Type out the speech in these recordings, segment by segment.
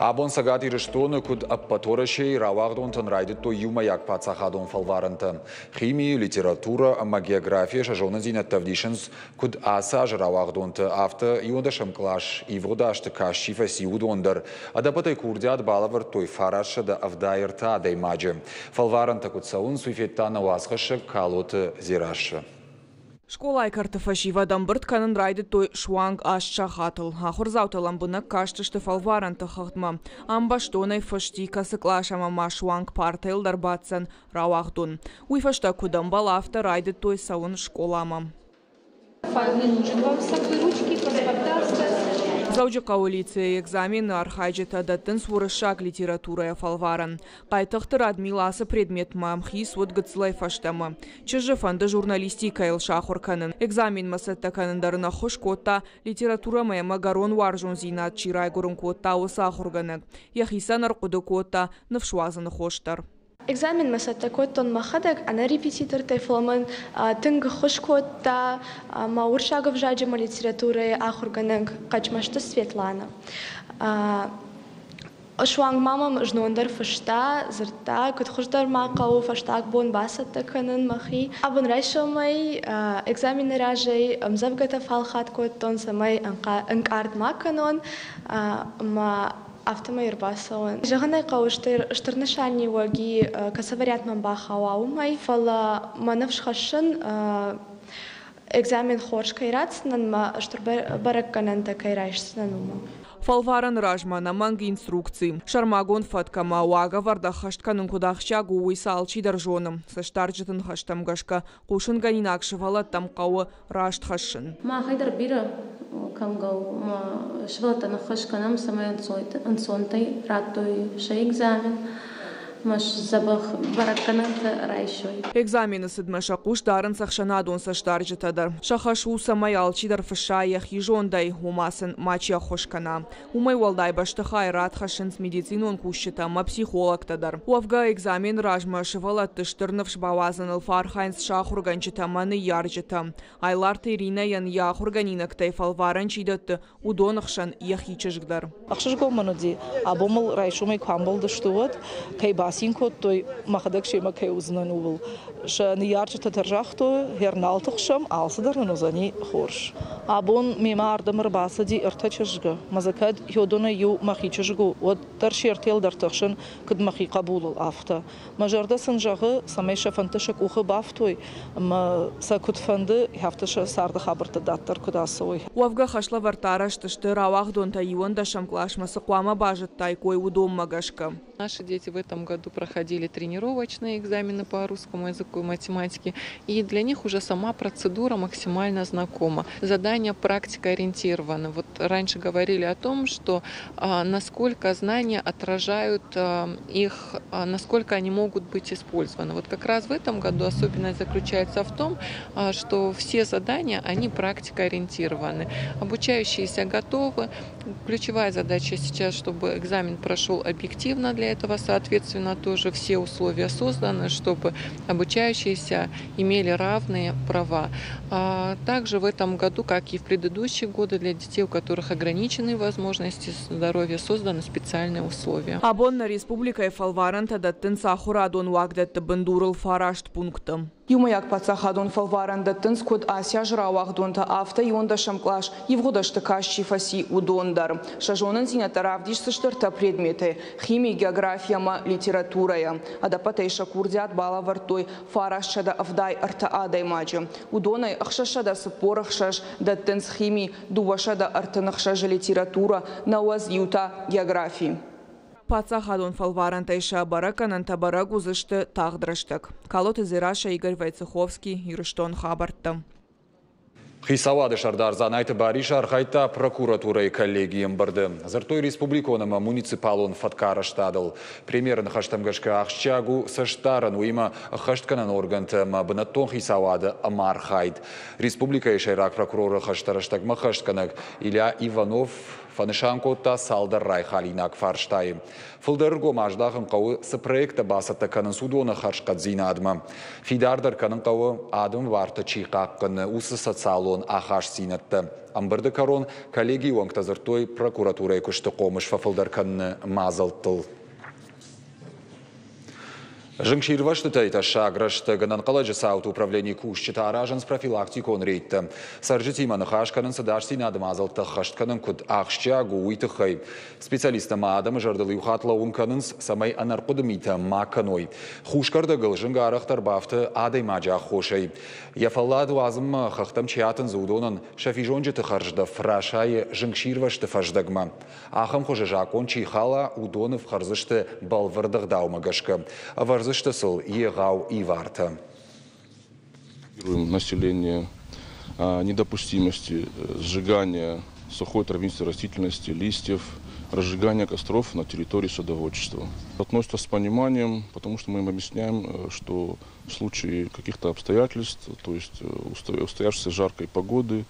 Абон Цӕгат Ирыстоны, куыд ӕппӕт Уӕрӕсейы, рауагъдонтӕн райдыдтой иумӕйаг паддзахадон фӕлварӕнтӕ. Химийы, литературӕ ӕмӕ географийӕ сӕ зонындзинӕдтӕ ӕвдисынц куыд ацы азы рауагъдонтӕ, афтӕ иуӕндӕсӕм кълас ивгъуыд азты каст чи фӕци, уыдон дӕр. Ӕдӕппӕтӕй курдиат балӕвӕрдтой 973 адӕймаджы. Фӕлварӕнтӕ куыд цӕуынц, уый федта нӕ уацхӕссӕг Калоты Дзерассӕ. Скъолайы кӕрты фӕсивӕд ӕмбырд кӕнын райдыдтой суанг 8 сахатыл. Ахуырдзаутӕ лӕмбынӕг кастысты фӕлварӕнты хыгъдмӕ. Ам бӕстонӕй фыст и, кӕцы кълас ӕмӕ ма суанг партӕйыл дӕр баддзӕн рауагъдон. Уый фӕстӕ куыд ӕмбӕлы, афтӕ райдыдтой цӕуын скъоламӕ. Не нужен вам с собой ручки, паспорта оставить. Дзӕуджыхъӕуы лицейы экзамены архайджытӕ дӕттынц уырыссаг литературӕйӕ фӕлварӕн. Хъайтыхъты Радмил ацы предметмӕ ӕмхиц уыд гыццылӕй фӕстӕмӕ. Чызджы фӕнды журналистикӕйыл сахуыр кӕнын. Экзаменмӕ цӕттӕ кӕнын дӕр ын ӕххуыс кодта, литературӕмӕ ӕмӕ ӕгӕрон уарзондзинад чи райгуырын кодта, уыцы ахуыргӕнӕг. Йӕхицӕн ӕрхъуыды кодта ныфс уадзыны хос дӕр. Экзаменмӕ цӕттӕ кодтон мӕхӕдӕг ӕнӕ репетитортӕй, фӕлӕ мын тынг ӕххуыс кодта мӕ уырыссаг ӕвзаджы ӕмӕ литературӕйы ахуыргӕнӕг Хъӕчмӕзты Светланӕ. Суанг ма мӕм знон дӕр фыста, дзырдта, куыд хуыздӕр ма хъӕуы фӕстаг бон бацӕттӕ кӕнын мӕхи. Абон райсомӕй экзамены разӕй ӕмдзӕвгӕтӕ фӕлхат кодтон, цӕмӕй ӕнкъард ма кӕнон ӕмӕ афтӕмӕй ӕрбацӕуын. Зӕгъын ӕй хъӕуы, стыр нысаниуӕг и, кӕцы вариант мӕм бахауа, уымӕй, фӕлӕ мӕ ныфс хӕссын, экзамен хорз кӕй ратдзынӕн мӕ стыр бӕрӕггӕнӕнтӕ кӕй райсдзынӕн, уымӕ. Фӕлварӕны размӕ ӕнӕмӕнг инструкци. Сӕрмагонд фӕтк ӕмӕ уагӕвӕрд ӕххӕст кӕнын куыд ахсджиаг у, уый сӕ алчидӕр зоны. Цӕстдарджыты ныхӕстӕм гӕсгӕ, хъусынгӕнинаг сывӕллӕттӕм хъӕуы раст хӕссын. Махӕй дӕр бирӕ кӕнгӕ у ӕмӕ сывӕллӕттӕн ӕххуыс кӕнӕм, цӕмӕй ӕнцонтӕй радтой сӕ экзамен ӕмӕ дзӕбӕх бӕрӕггӕнӕнтӕ райсой. Экзамены цыдмӕ сӕ хъус дарынц ӕхсӕнадон цӕстдарджытӕ дӕр. Сӕ хӕс у, цӕмӕй алчидӕр фысса йӕхи зондӕй, ома сын мачи ӕххуыс кӕна. Уымӕй уӕлдай бӕстыхайы рад хӕссынц медицинон кусджытӕ ӕмӕ психологтӕ дӕр. Уӕвгӕ, экзамены размӕ сывӕллӕтты стыр ныфс бауадзыныл фӕархайынц сӕ ахуыргӕнджытӕ ӕмӕ ныййарджытӕ. Айларты Иринӕйӕн йӕ ахуыргӕнинӕгтӕй фӕлварӕн чи дӕтты, уыдоны хсӕн йӕхи чызг дӕр. Ӕхсызгон мын уыди, абон мыл райсомӕй куы амбӕлдысты, уӕд кӕй бацин кодтой, мӕхӕдӕг семӕ кӕй уыдзынӕн, ууыл. Сӕ ныййарджытӕ дӕр загътой, гъер нал тыхсӕм, алцыдӕр нын уыдзӕни хорз. Абон мемӕ ардӕм ӕрбацыди ӕртӕ чызгы, ӕмӕ дзы кӕд уыдонӕй иу мӕхи чызг у, уӕддӕр се ртӕйыл дӕр тыхсын, куыд мӕхи хъӕбулыл, афтӕ. Мӕ зӕрдӕ сын зӕгъы, цӕмӕй сӕ фӕндтӕ сӕ къухы бафтой ӕмӕ сӕ куыд фӕнды, афтӕ сӕ царды хабӕрттӕ дарддӕр куыд ацӕуой. Уӕвгӕ хӕслӕвӕрдтӕ арӕзт сты рауагъдонтӕ иуӕндӕсӕм къласмӕ цы хъуамӕ базыдтаиккой, уыдонмӕ гӕсгӕ. Наши дети в этом году проходили тренировочные экзамены по русскому языку и математике, и для них уже сама процедура максимально знакома. Задания практикоориентированы. Вот раньше говорили о том, что насколько знания отражают их, насколько они могут быть использованы. Вот как раз в этом году особенность заключается в том, что все задания, они практикоориентированы. Обучающиеся готовы. Ключевая задача сейчас, чтобы экзамен прошел объективно, для этого, соответственно, тоже все условия созданы, чтобы обучающиеся имели равные права. Также в этом году, как и в предыдущие годы, для детей, у которых ограниченные возможности здоровья, созданы специальные условия. Абон нӕ республикӕйы фӕлварӕнтӕ дӕттынц ахуырадон уагдӕтты бындурыл фараст пункты. Иумӕйаг паддзахадон фӕлварӕн дӕттынц куыд ацы азы рауагъдонтӕ, афтӕ иуӕндӕсӕм кълас ивгъуыд ӕзты каст чи фӕци, уыдон дӕр. Сӕ зонындзинӕдтӕ равдисдзысты ӕртӕ предметӕй – хими, географи ӕмӕ литературӕйӕ. Ӕдӕппӕтӕй сӕ курдиат балӕвӕрдтой 973 адӕймаджы. Уыдонӕй 646 дӕттынц хими, 236 литературӕ, 91 та географи. Паддзахадон фӕлварӕнтӕй сӕ бӕрӕггӕнӕнтӕ бӕрӕг уыдзысты тагъд рӕстӕг. Калоты Дзерассӕ, Игорь Войцеховский, Ирыстон хабӕрттӕ. Хицауады сӕрдар Дзанайты Барис архайдта прокуратурӕйы коллегийы ӕмбырды. Дзырдтой республикон ӕмӕ муниципалон фӕткарӕзтадыл. Премьеры ныхӕстӕм гӕсгӕ ахсджиаг у цӕстдарӕн, уыимӕ ӕххӕстгӕнӕн органты ӕмӕ бынӕттон хицауады ӕмархайд. Республикӕйы сӕйраг прокуроры хӕстӕ рӕстӕгмӕ ӕххӕстгӕнӕг Илья Иванов. Фӕнысан кодта цалдӕр райхалинаг фарстайы. Фылдӕр ӕргом аздахын хъӕуы, цы проекттӕ бацӕттӕ кӕнынц, уыдоны хӕрзхъӕддзинадмӕ. Фидардӕр кӕнын хъӕуы, адӕмы бартӕ чи хъахъхъӕны, уыцы социалон ахастдзинӕдтӕ. Ӕмбырды кӕрон коллегийы уӕнгтӕ дзырдтой прокуратурӕйы куысты хъомыс фӕфылдӕр кӕныны мадзӕлттыл. Зынгсирвӕзтытӕй тӕссаг рӕстӕг ӕнӕнхъӕлӕджы цауты управленийы кусджытӕ аразынц профилактикон рейдтӕ. Цӕрджытимӕ ныхас кӕнынц ӕдасдзинады мадзӕлттӕ ӕххӕст кӕнын куыд ахсджиаг у, уый тыххӕй. Специалисттӕ ма адӕмы зӕрдыл иу хатт лӕууын кӕнынц, цӕмӕй ӕнӕрхъуыды митӕ ма кӕной. Хус кӕрдӕгыл зынг арӕхдӕр бафты адӕймаджы аххосӕй. Йӕ фӕллад уадзынмӕ хӕхтӕм чи атындзы, уыдонӕн сӕ физонджыты хӕрздӕф расайы зынгсирвӕзты фӕздӕгмӕ. Ахӕм хуызы закъон чи хала, уыдоны фхӕрдзысты бӕлвырд ӕгъдаумӕ гӕсгӕ, ӕвӕрдзысты сыл егъау ивартӕ. Население недопустимости сжигания сухой травянистой растительности, листьев, разжигания костров на территории садоводчества. Относятся с пониманием, потому что мы им объясняем, что в случае каких-то обстоятельств, то есть устоявшейся жаркой погоды,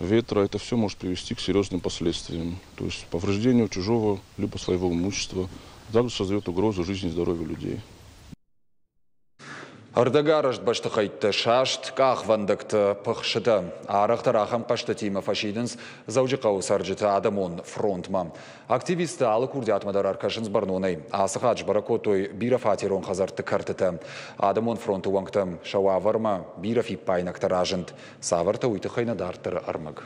ветра, это все может привести к серьезным последствиям, то есть повреждению чужого либо своего имущества, также создает угрозу жизни и здоровью людей. Ӕрдӕгарӕзт бӕстыхӕйттӕ, саст къахвӕндӕгтӕ, пыхсытӕ. Арӕхдӕр ахӕм хъӕзтытимӕ фӕсидынц Дзӕуджыхъӕуы цӕрджыты адӕмон фронтмӕ. Активисттӕ алы курдиатмӕ дӕр ӕркӕсынц бӕрнонӕй. Ацы хатт сбӕрӕг кодтой бирӕфатерон хӕдзӕртты кӕртытӕ. Адӕмон фронты уӕнгтӕм сӕ уавӕрмӕ бирӕ фиппаинӕгтӕ разынд. Цавӕртӕ, уый тыххӕй нӕ дарддӕры ӕрмӕг.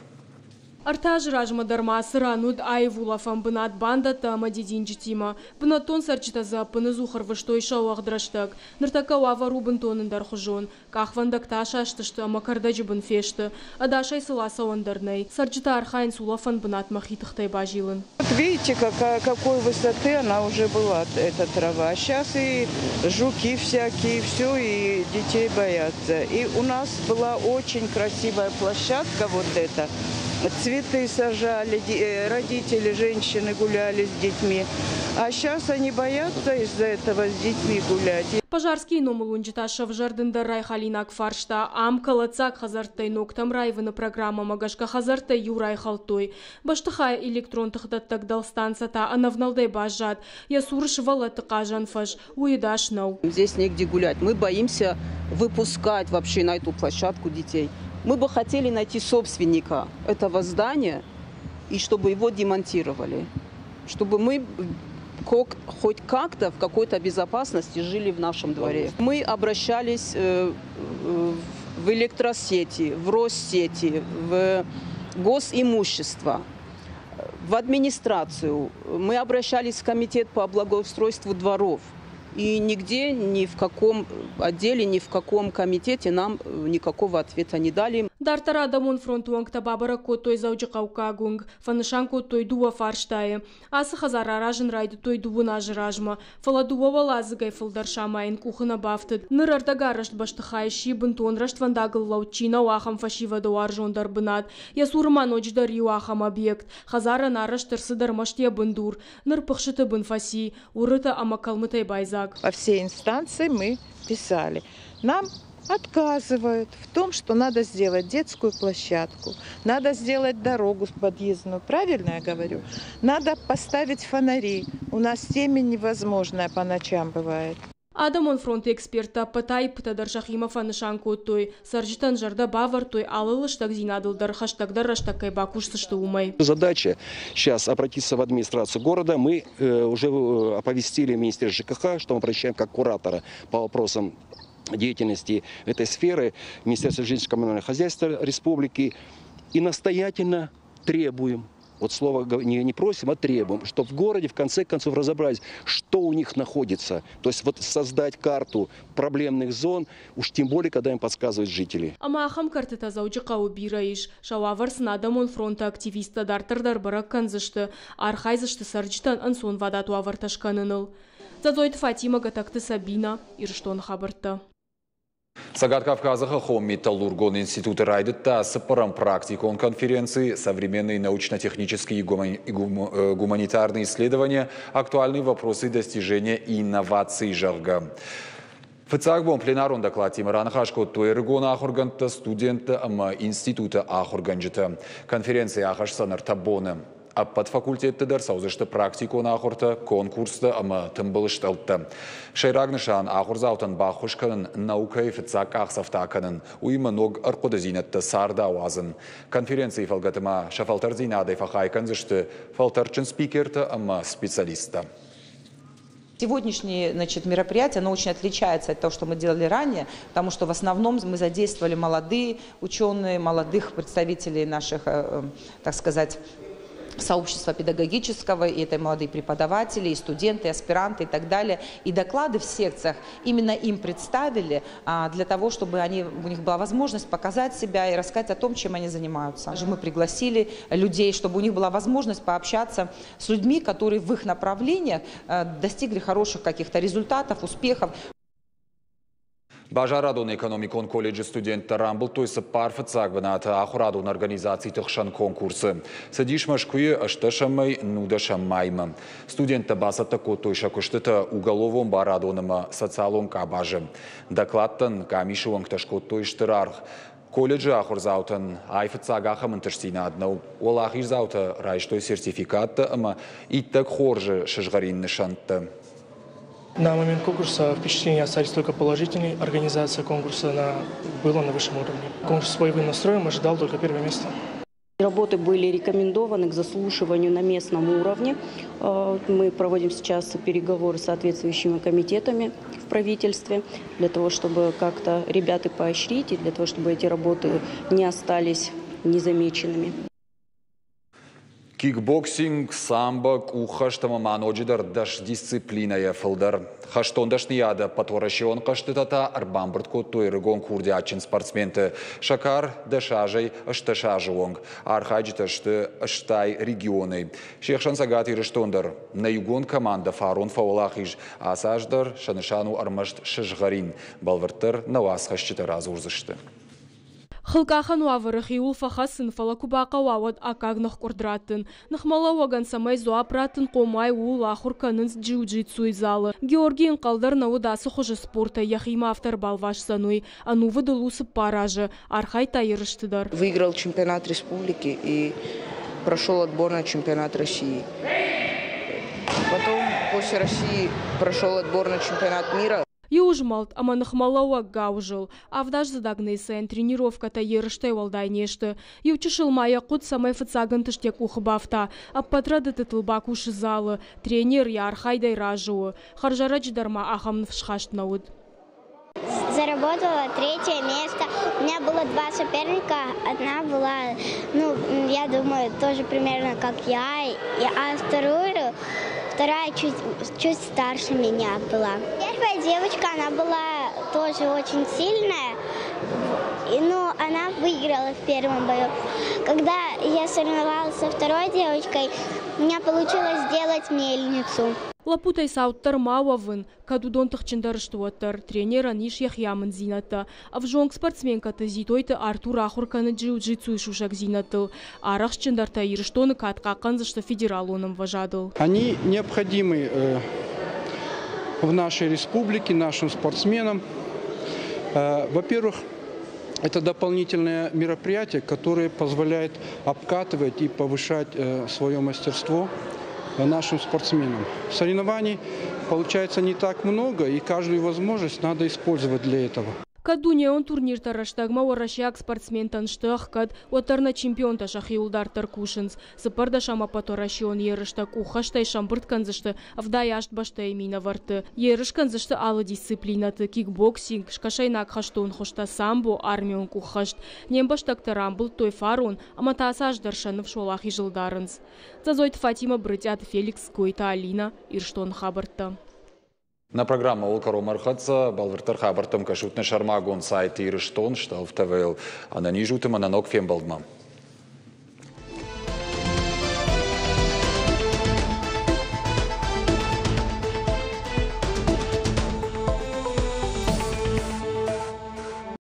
Ӕртӕ азы размӕ дӕр ма ацы ран уыд аив улӕфӕн бынат бандӕттӕ ӕмӕ дидинджытимӕ. Бынӕттон цӕрджытӕ дзы ӕппыныдзух ӕрвыстой сӕ уӕгъд рӕстӕг. Ныртӕккӕ уавӕр у бынтон ӕндӕрхуызон. Къахвӕндӕгтӕ асастысты ӕмӕ кӕрдӕджы бын фесты. Ӕдасӕй сыл ацӕуӕн дӕр нӕй. Цӕрджытӕ архайынц улӕфӕн бынатмӕ хи тыхтӕй базилын. Вот видите, какая, какой высоты она уже была, эта трава. Сейчас и жуки всякие, все, и детей боятся. И у нас была очень красивая площадка вот эта. Цветы сажали, родители, женщины гуляли с детьми. А сейчас они боятся из-за этого с детьми гулять. Пожарскийы номыл уынджы та сӕвзӕрд ӕндӕр райхалинаг фарста. Ам кӕлӕддзаг хӕдзӕрттӕй ногтӕм раивыны программӕмӕ гӕсгӕ хӕдзӕрттӕй иу райхӕлдтой. Бӕстыхайы электрон тыхдӕттӕг дӕлстанцӕ та ӕнӕвнӕлдӕй баззад. Йӕ цуры сывӕллӕтты хъазӕн фӕз, уый ӕдас нӕу. Здесь негде гулять. Мы боимся выпускать вообще на эту площадку детей. Мы бы хотели найти собственника этого здания и чтобы его демонтировали. Чтобы мы хоть как-то в какой-то безопасности жили в нашем дворе. Мы обращались в электросети, в Россети, в госимущество, в администрацию. Мы обращались в комитет по благоустройству дворов. И нигде, ни в каком отделе, ни в каком комитете нам никакого ответа не дали. Дарддӕр адӕмон фронты уӕнгтӕ бабӕрӕг кодтой Дзӕуджыхъӕуккаг уынг, фӕнысан кодтой дыууӕ фарстайы. Ацы хӕдзар аразын райдыдтой дыууын азы размӕ, фӕлӕ дыууӕ уӕладзыгӕй фылдӕр самайын къухы нӕ бафтыд. Ныр ӕрдӕгарӕзт бӕстыхай сси бынтон рӕствӕндагыл лӕуд чи нӕу, ахӕм фӕсивӕды уарзондӕр бынат. Йӕ цуры ма ноджыдӕр иу ахӕм объект. Хӕдзарӕн арӕзт ӕрцыд ӕрмӕст йӕ бындур. Ныр пыхсыты бын фӕци, уырытӕ ӕмӕ кӕлмытӕй байдзаг. Во все инстанции мы писали. Нам отказывают в том, что надо сделать детскую площадку, надо сделать дорогу подъездную, правильно я говорю? Надо поставить фонари. У нас темень невозможная по ночам бывает. Адӕмон фронты эксперттӕ ӕппӕт аиппытӕ дӕр сӕхимӕ фӕнысан кодтой. Цӕрджытӕн зӕрдӕ бавӕрдтой, алы лыстӕгдзинадыл дӕр хӕстӕгдӕр рӕстӕг кӕй бакусдзысты, уымӕй. Задача сейчас обратиться в администрацию города. Мы уже оповестили Министерство ЖКХ, что мы обращаем как куратора по вопросам деятельности этой сферы Министерство жилищно-коммунального хозяйства республики и настоятельно требуем, вот слово не просим, а требуем, чтобы в городе в конце концов разобрались, что у них находится. То есть вот создать карту проблемных зон, уж тем более, когда им подсказывают жители. Ӕмӕ ахӕм кӕртытӕ Дзӕуджыхъӕуы бирӕ ис. Сӕ уавӕр сын адӕмон фронты активисттӕ дарддӕр дӕр бӕрӕг кӕндзысты, архайдзысты цӕрджытӕн ӕнцонвадат уавӕртӕ скӕныныл. Дзӕдзойты Фатимӕ, Гӕтӕгты Сабина, Ирыстоны хабӕрттӕ. Цӕгат Кавказы хӕххон металлургон институты райдыдта цыппӕрӕм практикон конференци «Современные научно-технические и гуманитарные исследования. Актуальные вопросы достижения инноваций», зӕгъгӕ. Фыццаг бон пленарон докладтимӕ раныхас кодтой ӕрыгон ахуыргӕндтӕ, студенттӕ ӕмӕ институты ахуыргӕнджытӕ. Конференци ахӕсдзӕн ӕртӕ боны. Ӕппӕт факультетты дӕр цӕудзысты практикон ахуыртӕ, конкурстӕ ӕмӕ тымбыл стъӕлттӕ. Сӕйраг нысан ахуырдзаутӕн баххуыс кӕнын наукӕйы фыццаг къахдзӕфтӕ акӕнын, уыимӕ ног ӕрхъуыдыдзинӕдтӕ царды ауадзын. Конференцийы фӕлгӕты ма сӕ фӕлтӕрддзинадӕй фӕхай кӕндзысты фӕлтӕрдджын спикертӕ ӕмӕ специалисттӕ. Сегодняшнее, значит, мероприятие, оно очень отличается от того, что мы делали ранее, потому что в основном мы задействовали молодые ученые, молодых представителей наших, так сказать, сообщества педагогического, и это молодые преподаватели, и студенты, и аспиранты и так далее. И доклады в секциях именно им представили для того, чтобы у них была возможность показать себя и рассказать о том, чем они занимаются. Мы пригласили людей, чтобы у них была возможность пообщаться с людьми, которые в их направлениях достигли хороших каких-то результатов, успехов. Базарадон-экономикон колледжы студенттӕ рамбылдтой цыппар фыццаг бынаты ахуырадон организациты хсӕн конкурсы. Цыдис Мӕскуыйы ӕстдӕсӕмӕй нудӕсӕм маймӕ. Студенттӕ бацӕттӕ кодтой сӕ куыстытӕ уголовон барадон ӕмӕ социалон къабазы. Докладтӕн къамисы уӕнгтӕ скодтой стыр аргъ. Колледжы ахуырдзаутӕн айфыццаг ахӕм ӕнтыстдзинад нӕу. Уӕлахиздзаутӕ райстой сертификаттӕ ӕмӕ иттӕг хорзы сызгъӕрин нысӕнттӕ. На момент конкурса впечатления остались только положительные. Организация конкурса была на высшем уровне. Конкурс с боевым настроем, ожидал только первое место. Работы были рекомендованы к заслушиванию на местном уровне. Мы проводим сейчас переговоры с соответствующими комитетами в правительстве для того, чтобы как-то ребят и поощрить, и для того, чтобы эти работы не остались незамеченными. Кикбоксинг, самбо, къуххӕст ӕмӕ ма ноджыдӕр 10 дисциплинӕйӕ фылдӕр. Хӕстон дӕсныйады ӕппӕтуӕрӕсеон хъӕзтытӕ та ӕрбамбырд кодтой ӕрыгон курдиатджын спортсменты. Сӕ кар 10 азӕй 18 азы онг. Архайджытӕ сты 80 регионӕй. Се хсӕн Цӕгат Ирыстон дӕр. Нӕ иугонд командӕ фарон фӕуӕлахиз. Ацы аз дӕр сӕ нысан у ӕрмӕст сызгъӕрин. Бӕлвырддӕр нӕ уацхӕсджытӕ радзурдзысты. Хылкъахӕн уавӕры хиуыл фӕхӕцын, фӕлӕ куы бахъӕуа, уӕд аккаг ныхкъуырд раттын. Ныхмӕлӕууӕгӕн цӕмӕй дзуапп раттын хъом уай, ууыл ахуыр кӕнынц джиу-джитсуйы залы. Георгий ӕнхъӕл дӕр нӕ уыд, ацы хуызы спортӕй йӕхимӕ афтӕ ӕрбалвасдзӕн, уый. Ӕнувыд ыл у 4 азы. Архайдта ерысты дӕр. Выиграл чемпионат республики и прошел отбор на чемпионат России. Потом после России прошел отбор на чемпионат мира. Иу змӕлд ӕмӕ ныхмӕлӕууӕг гауызыл. Авдаздзыд Агнесӕйӕн тренировкӕтӕ ерыстӕй уӕлдай не сты. Иу чысыл ма йӕ хъуыд, цӕмӕй фыццаг ӕнтыст йӕ къухы бафта. Ӕппӕт рӕдыдтытыл бакусы залы. Тренер йӕ архайдӕй разы у. Хӕрзӕрӕджы дӕр ма ахӕм ныфсхаст нӕ уыд. Заработала третье место. У меня было два соперника. Одна была, ну, я думаю, тоже примерно как я, а вторая чуть, чуть старше меня была. Первая девочка, она была тоже очень сильная, и, ну, она выиграла в первом бою. Когда я соревновалась со второй девочкой, у меня получилось сделать мельницу. Лӕппутӕй цауддӕр ма уӕвын, кӕд уыдон тыхджындӕр сты, уӕддӕр. Тренерӕн ис йӕхи амынддзинӕдтӕ. Ӕвзонг спортсменкӕты Зитойты Артур ахуыр кӕны джиу-джитсуйы сусӕгдзинӕдтыл. Арӕхстджындӕртӕ Ирыстоны кад хъахъхъӕндзысты федералон ӕмвӕзадыл. Они необходимы в нашей республике, нашим спортсменам. Во-первых, это дополнительное мероприятие, которое позволяет обкатывать и повышать свое мастерство нашим спортсменам. Соревнований получается не так много, и каждую возможность надо использовать для этого. Кӕд дунеон турниртӕ рӕстӕгмӕ уӕрӕсейаг спортсментӕн сты ӕхгӕд, уӕддӕр нӕ чемпионтӕ сӕхиуыл дарддӕр кусынц. 14-ӕм ӕппӕтуӕрӕсеон ерыстӕ къуххӕстӕй сӕмбырд кӕндзысты 78 бӕстӕйы минӕвӕртты. Ерыс кӕндзысты алы дисциплинӕты: кикбоксинг, скӕсӕйнаг хӕстон хуызтӕ, самбо, армион къуххӕст. Не мбӕстӕгтӕ рамбылдтой фарон ӕмӕ та ацы аз дӕр сӕ ныфс уӕлахизыл дарынц. Дзӕдзойты Фатимӕ, Брытъиаты Феликс, Гойты Алина, Ирыстоны хабӕрттӕ. Нӕ программӕ ууыл кӕронмӕ ӕрхӕццӕ. Бӕлвырддӕр хабӕрттӕм кӕсут нӕ сӕрмагонд сайт Ирыстон стъӕлф ТВ-йыл. Ӕнӕниз ут ӕмӕ нӕ ног фембӕлдмӕ.